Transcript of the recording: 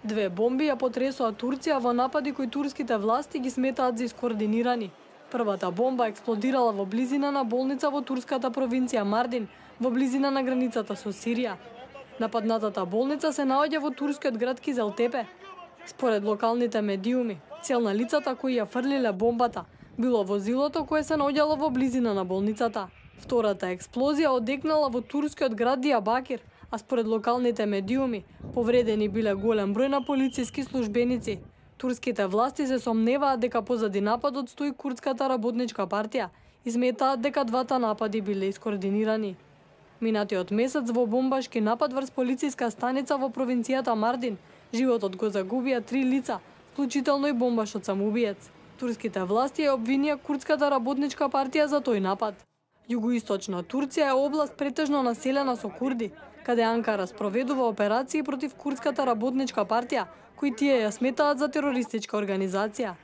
Две бомби ја потресоа Турција во напади кои турските власти ги сметаат за искоординирани. Првата бомба експлодирала во близина на болница во турската провинција Мардин, во близина на границата со Сирија. Нападнатата болница се наоѓа во турскиот град Кизелтепе. Според локалните медиуми, цел на лицата кои ја фрлиле бомбата било возилото кое се наоѓало во близина на болницата. Втората експлозија одекнала во турскиот град Дијабакир, а според локалните медиуми, повредени биле голем број на полициски службеници. Турските власти се сомневаат дека позади нападот стои Курдската работничка партија и сметаат дека двата напади биле искоординирани. Минатиот месец во бомбашки напад врз полициска станица во провинцијата Мардин, животот го загубија 3 лица, вклучително и бомбашот самоубиец. Турските власти ја обвинија Курдската работничка партија за тој напад. Југоисточна Турција е област претежно населена со курди, каде Анкара спроведува операции против Курдската работничка партија, кои тие ја сметаат за терористичка организација.